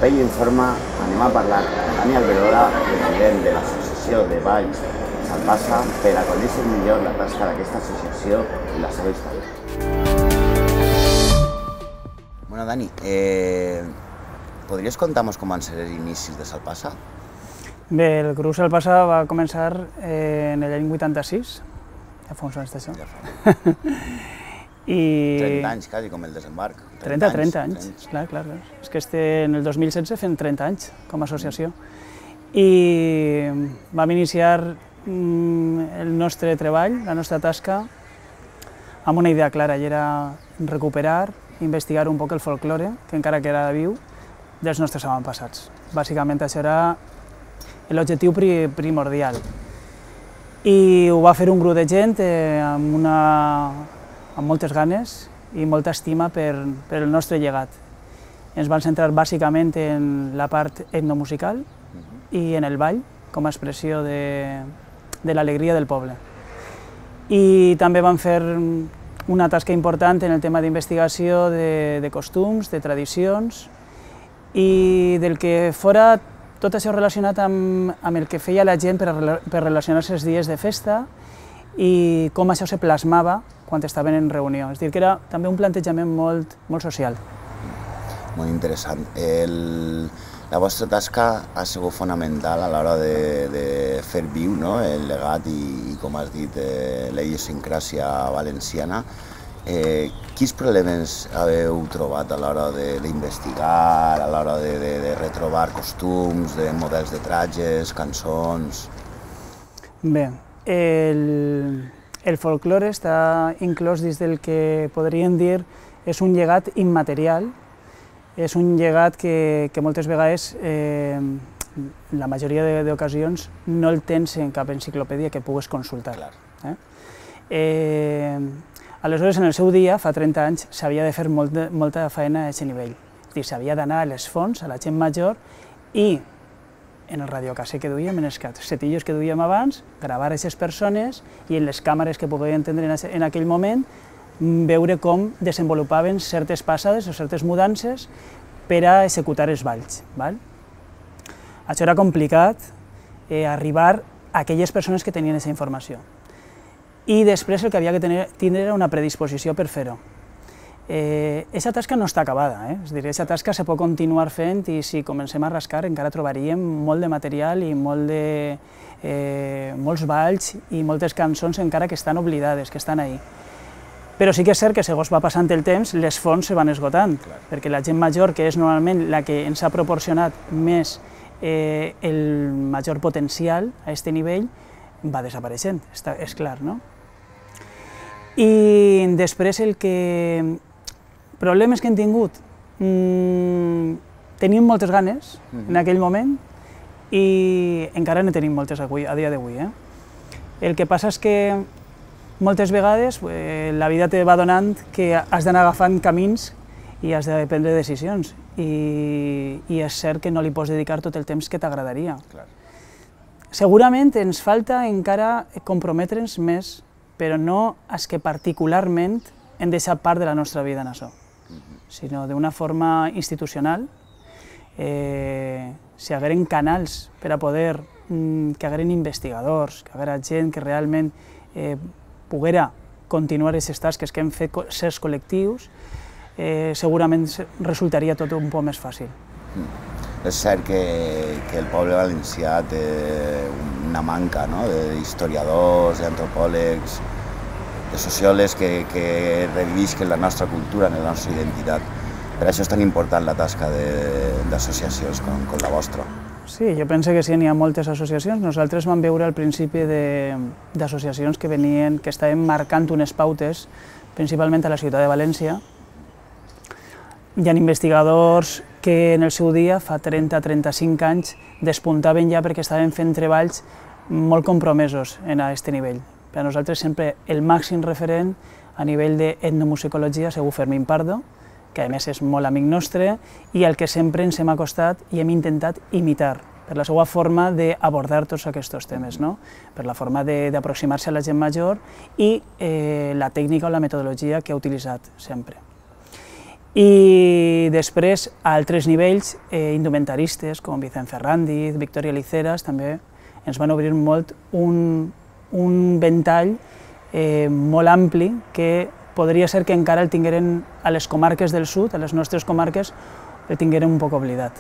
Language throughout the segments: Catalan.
proper informe anem a parlar amb Dani Alberola, president de l'Associació de Balls Salpassa, per a conèixer millor la tasca d'aquesta associació i la seva història. Bueno, Dani, podries contar-nos com van ser els inicis de Salpassa? Bé, el grup Salpassa va començar en l'any 86, ja fa uns anys d'això. 30 anys, quasi, com el desembarc. 30 anys, clar. És que en el 2016 fem 30 anys com a associació. I vam iniciar el nostre treball, la nostra tasca, amb una idea clara, i era recuperar, investigar un poc el folklore, que encara queda viu, dels nostres avantpassats. Bàsicament això era l'objectiu primordial. I ho va fer un grup de gent amb moltes ganes i molta estima per el nostre llegat. Ens vam centrar bàsicament en la part etnomusical i en el ball, com a expressió de l'alegria del poble. I també vam fer una tasca important en el tema d'investigació de costums, de tradicions, i del que fora tot això relacionat amb el que feia la gent per relacionar-se els dies de festa i com això se plasmava quan estaven en reunió. És a dir, que era també un plantejament molt social. Molt interessant. La vostra tasca ha sigut fonamental a l'hora de fer viu el legat i, com has dit, la idiosincràsia valenciana. Quins problemes heu trobat a l'hora d'investigar, a l'hora de retrobar costums, de models de tratges, cançons? Bé, el folklore està inclòs dins del que podríem dir és un llegat immaterial, és un llegat que moltes vegades, la majoria d'ocasions, no el tens en cap enciclopèdia que pugues consultar. Aleshores, en el seu dia, fa 30 anys, s'havia de fer molta feina a aquest nivell. És a dir, s'havia d'anar a les fonts, a la gent major, i en el radiocasset que duíem, en els cassetillos que duíem abans, gravar aquestes persones i en les càmeres que podien tindre en aquell moment, veure com desenvolupaven certes passades o certes mudances per a executar els balls. Això era complicat, arribar a aquelles persones que tenien aquesta informació. I després el que havia que tindre era una predisposició per fer-ho. Aquesta tasca no està acabada, és a dir, aquesta tasca se pot continuar fent i si comencem a rascar encara trobaríem molt de material i molts balls i moltes cançons encara que estan oblidades, que estan ahí. Però sí que és cert que segons va passant el temps les fonts se van esgotant, perquè la gent major, que és normalment la que ens ha proporcionat més el major potencial a aquest nivell, va desapareixent, és clar, no? I després problemes que hem tingut, tenim moltes ganes en aquell moment i encara ne tenim moltes a dia d'avui. El que passa és que moltes vegades la vida te va donant que has d'anar agafant camins i has de prendre decisions i és cert que no li pots dedicar tot el temps que t'agradaria. Segurament ens falta encara comprometre'ns més, però no és que particularment hem deixat part de la nostra vida en això, sinó d'una forma institucional. Si hi hagueren canals per a poder, que hi hagueren investigadors, que hi haguera gent que realment poguera continuar aquestes tasques que hem fet certs col·lectius, segurament resultaria tot un poc més fàcil. És cert que el poble valencià té una manca d'historiadors, d'antropòlegs, de sociòlegs que revisquen la nostra cultura, la nostra identitat. Per això és tan important la tasca d'associacions com la vostra. Sí, jo penso que sí, n'hi ha moltes associacions. Nosaltres vam veure al principi d'associacions que estaven marcant unes pautes, principalment a la ciutat de València. Hi ha investigadors que en el seu dia, fa 30-35 anys, despuntaven ja perquè estaven fent treballs molt compromesos en aquest nivell. Per a nosaltres sempre el màxim referent a nivell d'etnomusicologia ha sigut Fermín Pardo, que a més és molt amic nostre i al que sempre ens hem acostat i hem intentat imitar per la seva forma d'abordar tots aquests temes, per la forma d'aproximar-se a la gent major i la tècnica o la metodologia que ha utilitzat sempre. I després, a altres nivells, indumentaristes com Vicent Ferrandiz, Victoria Liceras, també ens van obrir molt un ventall molt ampli que podria ser que encara el tingueren a les comarques del sud, a les nostres comarques, el tingueren un poc oblidat.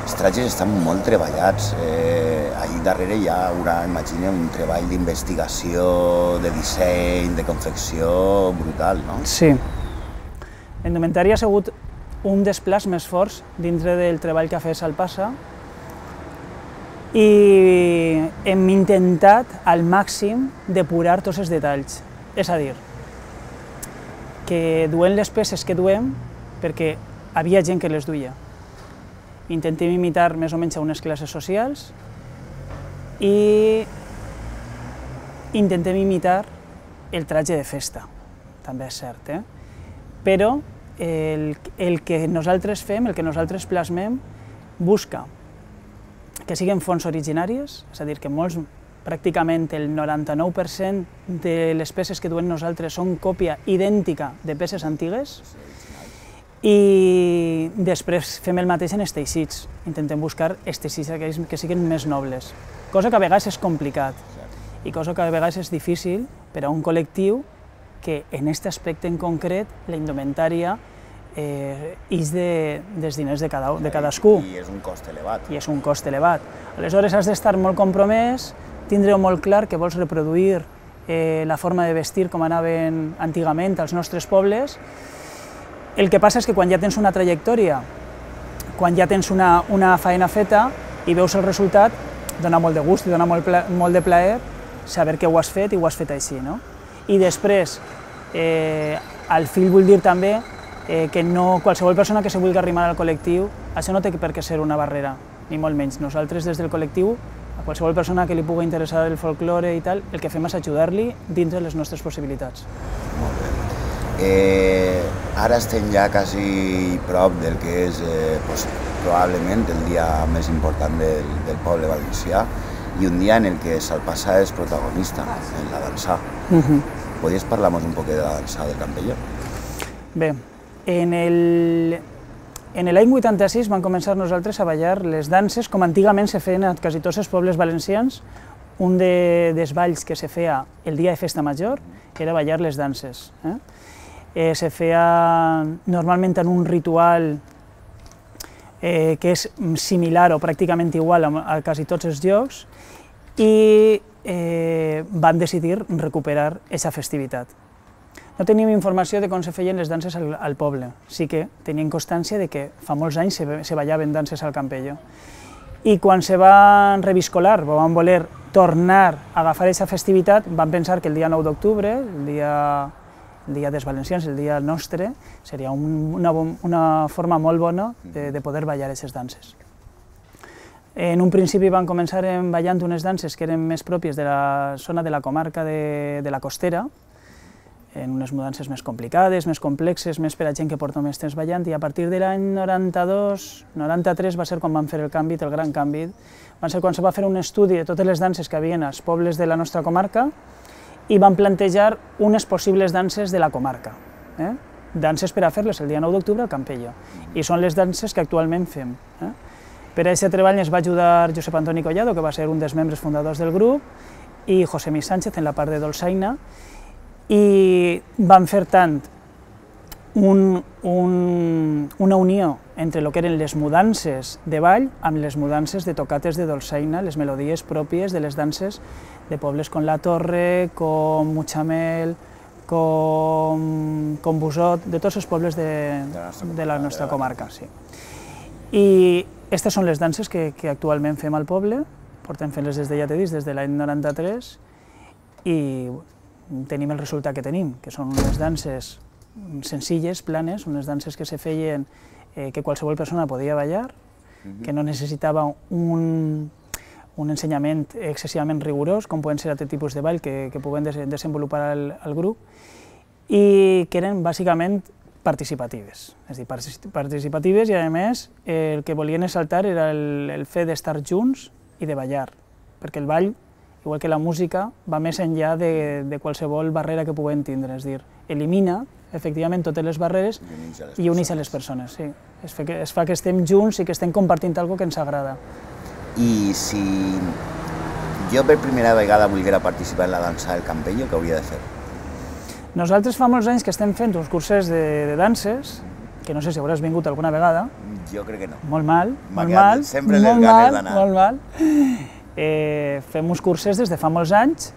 Els tratges estan molt treballats. Allí darrere hi haurà, imagina, un treball d'investigació, de disseny, de confecció brutal, no? Sí. La indumentària ha sigut un dels plats més forts dintre del treball que ha fet Salpassa i hem intentat al màxim depurar tots els detalls. És a dir, que duem les peces que duem perquè havia gent que les duia. Intentem imitar més o menys a unes classes socials i intentem imitar el tratge de festa, també és cert, però el que nosaltres fem, el que nosaltres plasmem, busca que siguin fonts originàries, és a dir, que pràcticament el 99% de les peces que duem nosaltres són còpia idèntica de peces antigues, i després fem el mateix en els teixits. Intentem buscar els teixits que siguin més nobles, cosa que a vegades és complicat i cosa que a vegades és difícil per a un col·lectiu que en aquest aspecte en concret la indumentària és dels diners de cadascú. I és un cost elevat. I és un cost elevat. Aleshores has d'estar molt compromès, tindre molt clar que vols reproduir la forma de vestir com anaven antigament als nostres pobles. El que passa és que quan ja tens una trajectòria, quan ja tens una feina feta i veus el resultat, dona molt de gust i dona molt de plaer saber que ho has fet i ho has fet així, no? I després, al fil vull dir també que qualsevol persona que se vulgui arrimar al col·lectiu, això no té per què ser una barrera, ni molt menys. Nosaltres des del col·lectiu, a qualsevol persona que li pugui interessar el folklore i tal, el que fem és ajudar-li dins de les nostres possibilitats. Molt bé. Ara estem ja quasi prop del que és probablement el dia més important del poble valencià i un dia en el que Salpassa és protagonista, en la dansa. Podries parlar-nos un poc de la dansa del Campello? Bé, en l'any 86 vam començar nosaltres a ballar les danses com antigament se feien a quasi tots els pobles valencians. Un dels balls que se feia el dia de festa major era ballar les danses. Se feia normalment en un ritual que és similar o pràcticament igual a quasi tots els llocs i van decidir recuperar aquesta festivitat. No teníem informació de com se feien les danses al poble, sí que tenien constància de que fa molts anys se ballaven danses al Campello. I quan se van reviscolar, van voler tornar a agafar aquesta festivitat, van pensar que el dia 9 d'octubre, el dia dels valencians, el dia nostre, seria una forma molt bona de poder ballar aquestes danses. En un principi van començar ballant unes danses que eren més pròpies de la zona de la comarca de la Costera, en unes mudances més complicades, més complexes, més per a gent que porta més temps ballant, i a partir de l'any 92-93 va ser quan van fer el canvi, el gran canvi. Va ser quan se va fer un estudi de totes les danses que havien als pobles de la nostra comarca i van plantejar unes possibles danses de la comarca. Danses per a fer-les el dia 9 d'octubre al Campello, i són les danses que actualment fem. Per a aquest treball ens va ajudar Josep Antoni Collado, que va ser un dels membres fundadors del grup, i José Mi Sánchez en la part de dolçaina, i van fer tant una unió entre el que eren les mudances de ball amb les mudances de tocates de dolçaina, les melodies pròpies de les danses de pobles com La Torre, com Mutxamel, com Busot, de tots els pobles de la nostra comarca. I aquestes són les danses que actualment fem al poble, portem fent-les des de, ja t'he dit, des de l'any 93, i tenim el resultat que tenim, que són unes danses senzilles, planes, unes danses que se feien que qualsevol persona podia ballar, que no necessitava un ensenyament excessivament rigorós, com poden ser altres tipus de ball que puguen desenvolupar al grup, i que eren bàsicament participatives. És a dir, participatives i, a més, el que volien exaltar era el fet d'estar junts i de ballar, perquè el ball igual que la música, va més enllà de qualsevol barrera que puguem tindre, és a dir, elimina efectivament totes les barreres i uneix a les persones, sí. Es fa que estem junts i que estem compartint alguna cosa que ens agrada. I si jo per primera vegada volguera participar en la dansa del Campello, què hauria de fer? Nosaltres fa molts anys que estem fent uns cursos de danses, que no sé si hauràs vingut alguna vegada. Jo crec que no. Molt mal, molt mal, sempre les ganes d'anar. Molt mal. Fem uns cursos des de fa molts anys,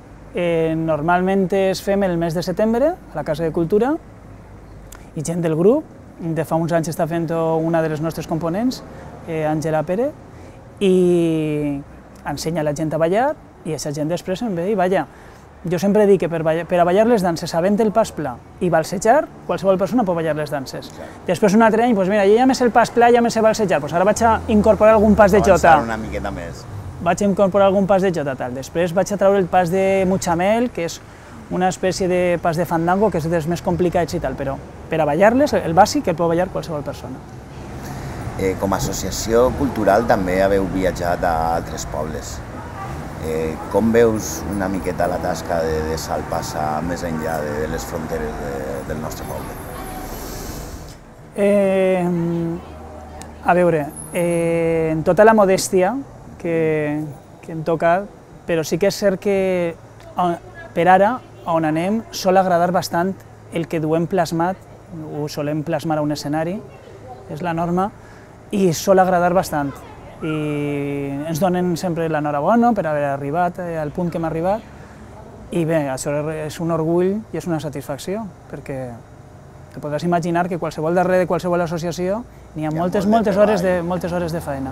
normalment es fem el mes de setembre a la Casa de Cultura, i gent del grup, de fa uns anys està fent una de les nostres components, Àngela Pérez, i ensenya la gent a ballar, i aquesta gent després se'n ve i balla. Jo sempre dic que per a ballar les danses sabent el pas pla i balsejar, qualsevol persona pot ballar les danses. Després un altre any, doncs mira, jo ja me sé el pas pla, ja me sé balsejar, doncs ara vaig a incorporar algun pas de jota. Avançar una miqueta més. Vaig a incorporar algun pas de jota, tal. Després vaig a treure el pas de Muchamel, que és una espècie de pas de fandango, que és dels més complicats i tal, però per a ballar-les, el bàsic el pot ballar qualsevol persona. Com a associació cultural també haveu viatjat a altres pobles. Com veus una miqueta la tasca de Salpassa més enllà de les fronteres del nostre poble? A veure, en tota la modèstia que em toca, però sí que és cert que per ara, on anem, sol agradar bastant el que duem plasmat, ho solem plasmar a un escenari, és la norma, i sol agradar bastant. I ens donen sempre l'enhorabona per haver arribat al punt que hem arribat, i bé, això és un orgull i és una satisfacció, perquè te podràs imaginar que darrere de qualsevol associació n'hi ha moltes hores de feina.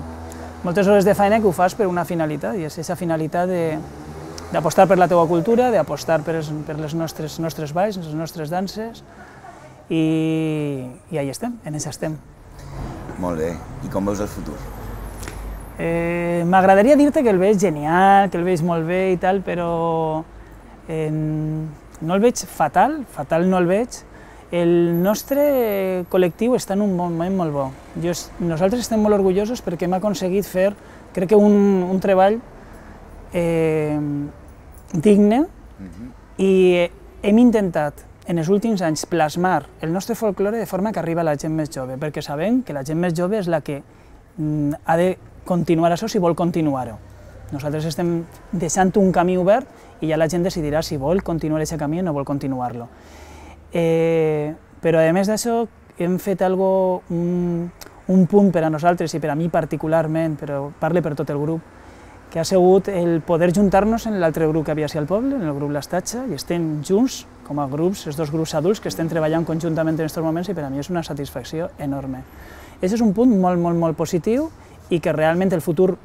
Moltes hores de feina que ho fas per una finalitat, i és aquesta finalitat d'apostar per la teva cultura, d'apostar per les nostres balls, les nostres danses, i ahí estem, en això estem. Molt bé. I com veus el futur? M'agradaria dir-te que el veig genial, que el veig molt bé i tal, però no el veig fatal no el veig. El nostre col·lectiu està en un moment molt bo. Nosaltres estem molt orgullosos perquè hem aconseguit fer, crec que un treball digne, i hem intentat en els últims anys plasmar el nostre folklore de forma que arriba a la gent més jove, perquè sabem que la gent més jove és la que ha de continuar això si vol continuar-ho. Nosaltres estem deixant un camí obert i ja la gent decidirà si vol continuar aquest camí o no vol continuar-lo. Però a més d'això hem fet un punt per a nosaltres i per a mi particularment, però parle per tot el grup, que ha sigut el poder juntar-nos en l'altre grup que havia al poble, en el grup L'Estatge, i estem junts com a grups, els dos grups adults que estem treballant conjuntament en aquests moments, i per a mi és una satisfacció enorme. Aquest és un punt molt positiu i que realment el futur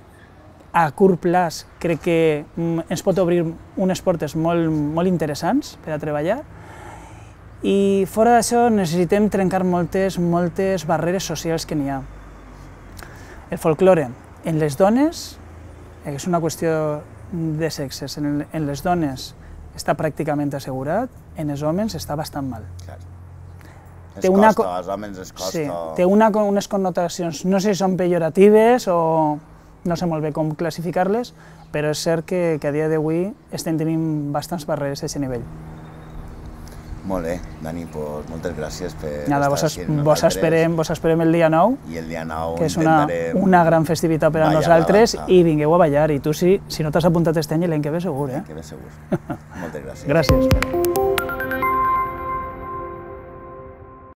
a curt plaç crec que ens pot obrir unes portes molt interessants per a treballar, i fora d'això necessitem trencar moltes barreres socials que n'hi ha. El folklore en les dones és una qüestió de sexes, en les dones està pràcticament assegurat, en els homes està bastant mal. Als homes es costa... Sí, té unes connotacions, no sé si són pejoratives o no sé molt bé com classificar-les, però és cert que a dia d'avui estem tenint bastants barreres a aquest nivell. Molt bé, Dani, moltes gràcies per estar aquí amb nosaltres. Vos esperem el dia 9, i el dia 9 que és una gran festivitat per a nosaltres, i vingueu a ballar, i tu si no t'has apuntat aquest any, l'any que ve segur. L'any que ve segur. Moltes gràcies. Gràcies.